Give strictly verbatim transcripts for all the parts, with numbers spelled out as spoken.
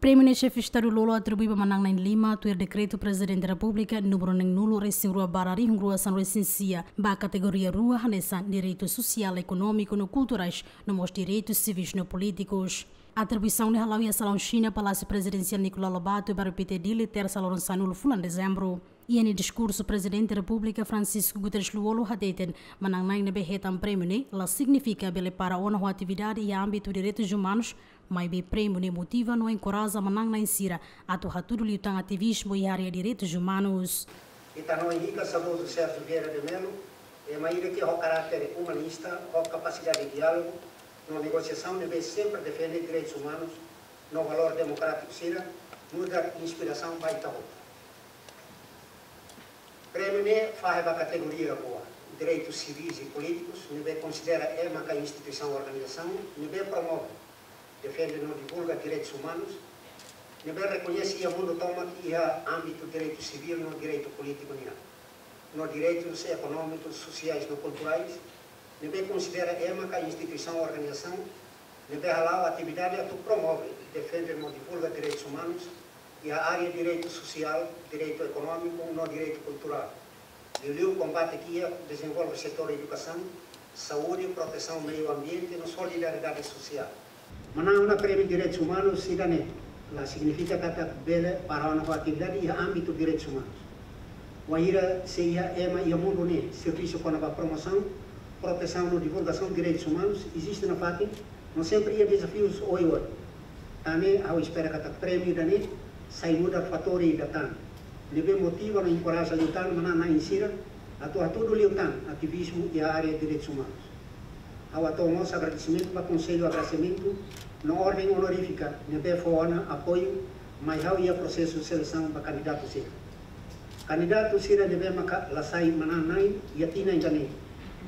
Prémiu ne'e Xefe Estadu lolo atribui ba manán-na'in lima tuir Dekretu Prezidente Repúblika númeru neenulu resin rua barra rihun rua sanulu resin sia, ba kategoria rua hanesan direitu sosiál, ekonómiku no kulturais, no mós direitus sivis no polítikus. Atribuisaun ne'e hala'o iha salaun Xina, Palásiu Prezidensiál Nicolau Lobato, bairru Pité, Dili, tersa loron sanulu fulan Dezembru. Iha nia diskursu, Prezidente Repúblika Francisco Guterres Lú-Olo hateten, manán-na'in ne'ebé hetan prémiu ne'e la signifika bele para ona ho atividade iha ámbitu direitus umanus, maibé prémiu ne'e motiva no enkoraja manán-na'in sira atu hatudu liután ativizmu iha área direitus umanus. Ita hanoin hikas saudozu Sérgio Vieira de Mello, ema ida ke ho karáter umanista, ho kapasidade diálogu no negosiasaun, ne'ebé sempre defende direitus umanus no valór demokrátiku sira, nu'udar inspirasaun ba ita hotu. Prémiu ne'e fahe ba kategoria rua, direitus sivis i polítikus, ne'ebé konsidera ema ka instituisaun, organizasaun ne'ebé promove, defende no divulga direitus umanus, ne'ebé rekoñese iha mundu tomak iha ámbitu direitu sivíl no direitu polítiku nian, no direitus ekonómikus, sosiais no kulturais, ne'ebé konsidera ema ka instituisaun, organizasaun ne'ebé hala'o atividade atu promove, defende no divulga direitus umanus iha área direitu sosiál, direitu ekonómiku no direitu kulturál. Liuliu kombate kiak, dezenvolve setór edukasaun, saúde, protesaun meiu ambiente no solidariedade sosiál. Manán ona prémiu direitus umanus ida-ne'e la signifika katak bele para ona ho atividade iha ámbitu direitus umanus. Wainhira se iha ema iha mundu ne'e servisu kona-ba promosaun, protesaun no divulgasaun direitus umanus, eziste nafatin, no sempre iha dezafius oioin. Tan ne'e ha'u espera katak prémiu ida-ne'e sai nu'udar fatór ida tan ne'ebé motiva no enkoraja liután manán-na'in sira atu hatudu liután ativizmu iha área direitus umanus. Ha'u hato'o mós agradesimentu ba Konsellu Agradesimentu no Orden Onorífika ne'ebé fó ona apoiu mai ha'u iha prosesu selesaun ba kandidatu sira. Kandidatu sira ne'ebé maka la sai manán-na'in iha tinan ida-ne'e,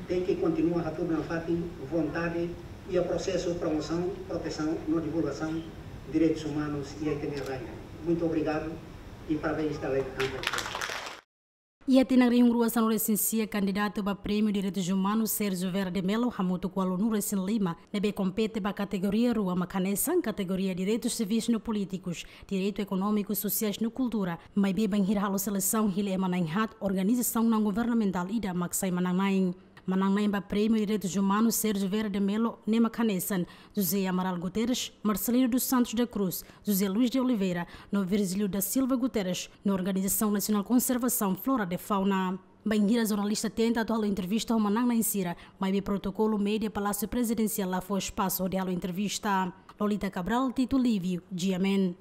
tenke kontinua hatudu nafatin vontade iha prosesu promosaun, protesaun no divulgasaun direitus umanus iha ita-nia rai. Muito obrigado e parabéns da lei de campanha. Iha tinan rihun rua sanulu resin sia, kandidatu ba Prémiu Direitus Umanus Sérgio Vieira de Mello hamutuk ualunulu resin lima ne'ebé kompete ba kategoria rua mak hanesan kategoria direitus sivis no polítikus, direitu ekonómiku, sosiais no kultura, maibé bainhira halo selesaun hili ema na'in-haat, organizasaun naun-governamentál ida mak sai manán-na'in. Manán-na'in ba Prémiu Direitus Umanus Sérgio Vieira de Mello ne'e mak hanesan José Amaral Guterres, Marcelino dos Santos da Cruz, José Luís de Oliveira no Virgílio da Silva Guterres, no Organizasaun Nasionál Konservasaun Flora de Fauna. Bainhira jornalista tenta atu halo entrevista ho manán-na'in sira, maibé protokolu média Palásiu Prezidensiál la fó espasu hodi halo entrevista. Lolita Cabral, Tito Lívio, G M N.